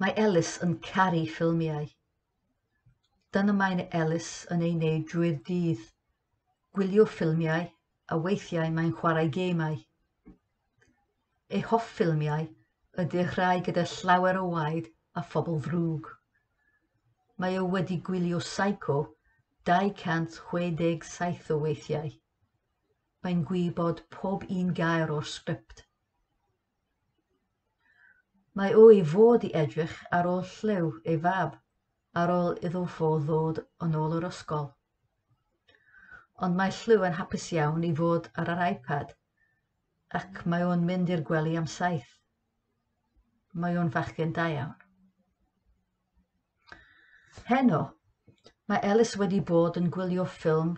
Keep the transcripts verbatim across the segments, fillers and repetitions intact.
Mae Ellis yn caru ffilmiau. Dyna mae Ellis yn ei wneud drwy'r dydd, gwylio ffilmiau a weithiau mae'n chwarae gemau. Ei hoff ffilmiau ydy'r rhai gyda llawer o waed a phobl ddrwg. Mae o wedi gwylio Psycho dau cant chwe deg saith o weithiau. Mae'n gwybod pob un gair o'r sgript. Mae o i fod i edrych ar ôl Llew, ei fab, ar ôl iddo fo ddod yn ôl o'r ysgol. Ond mae Llew yn hapus iawn i fod ar yr iPad, ac mae o'n mynd i'r gwely am saith. Mae o'n fachgen da iawn. Heno, mae Ellis wedi bod yn gwylio ffilm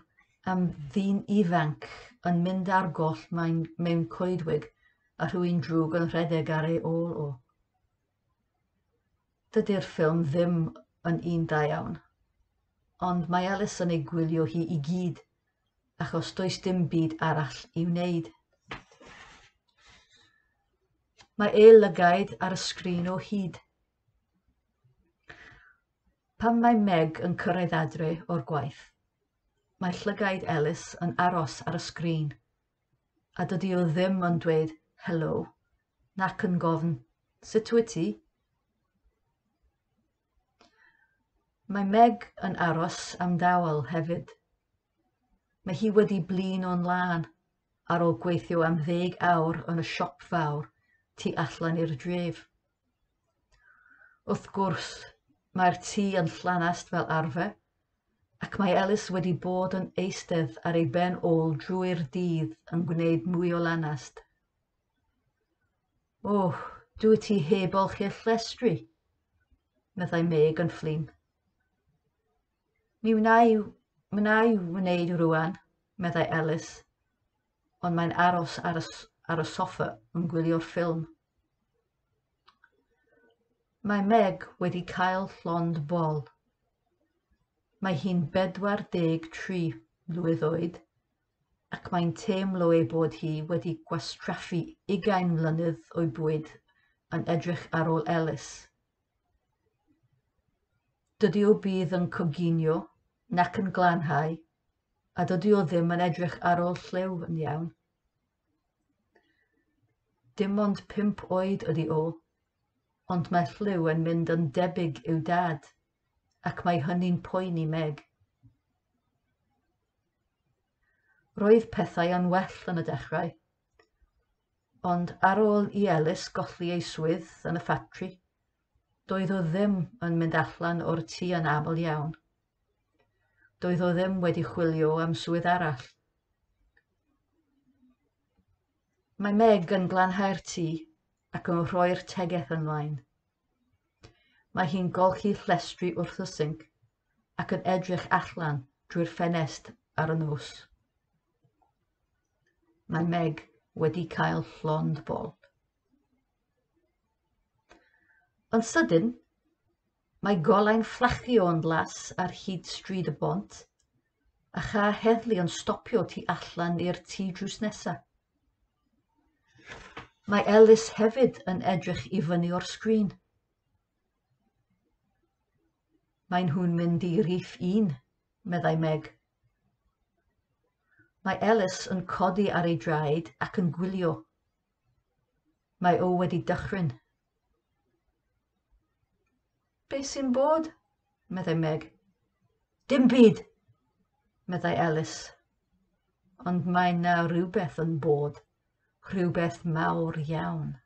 am ddyn ifanc yn mynd ar goll mewn coedwig a rhywun drwg yn rhedeg ar ei ôl o. Dydy'r ffilm ddim yn un da iawn, ond mae Ellis yn ei gwylio hi i gyd, achos does dim byd arall i'w wneud. Mae ei lygaid ar y sgrin o hyd. Pan mae Meg yn cyrraedd adre o'r gwaith, mae llygaid Ellis yn aros ar y sgrin, a dydy o ddim yn dweud helo, nac yn gofyn, "Sut wyt ti?" Mae Meg yn aros am dawel hefyd. Mae hi wedi blino'n lân ar ôl gweithio am ddeg awr yn y siop fawr tu allan i'r dref. Wrth gwrs, mae'r tŷ yn llanast fel arfer, ac mae Ellis wedi bod yn eistedd ar ei ben ôl drwy'r dydd yn gwneud mwy o lanast. "O, dwyt ti heb olchi'r llestri," meddai Meg yn flin. "Mi wna i, wna i wneud rŵan," meddai Ellis, ond mae'n aros ar y, ar y soffa yn gwylio'r ffilm. Mae Meg wedi cael llond bol. Mae hi'n bedwar deg tri mlwydd oed, ac mae'n teimlo ei bod hi wedi gwastraffu ugain mlynedd o'i bywyd yn edrych ar ôl Ellis. Dydy o byth yn coginio nac yn glanhau, a dydy o ddim yn edrych ar ôl Llew yn iawn. Dim ond pump oed ydy o, ond mae Llew yn mynd yn debyg i'w dad, ac mae hynny'n poeni Meg. Roedd pethau yn well yn y dechrau, ond ar ôl i Ellis golli ei swydd yn y ffatri, doedd o ddim yn mynd allan o'r tŷ yn aml iawn. Doedd o ddim wedi chwilio am swydd arall. Mae Meg yn glanhau'r tŷ ac yn rhoi'r tegell ymlaen. Mae hi'n golchi llestri wrth y sinc ac yn edrych allan drwy'r ffenest ar y nos. Mae Meg wedi cael llond bol. Yn sydyn, mae golau'n fflachio yn las ar hyd stryd y bont, a char heddlu yn stopio tu allan i'r tŷ drws nesaf. Mae Ellis hefyd yn edrych i fyny o'r sgrin. "Mae nhw'n mynd i rif un," meddai Meg. Mae Ellis yn codi ar ei draed ac yn gwylio. Mae o wedi dychryn. "Be sy'n bod?" meddai Meg. "Dim byd," meddai Ellis. Ond mae 'na rhywbeth yn bod, rhywbeth mawr iawn.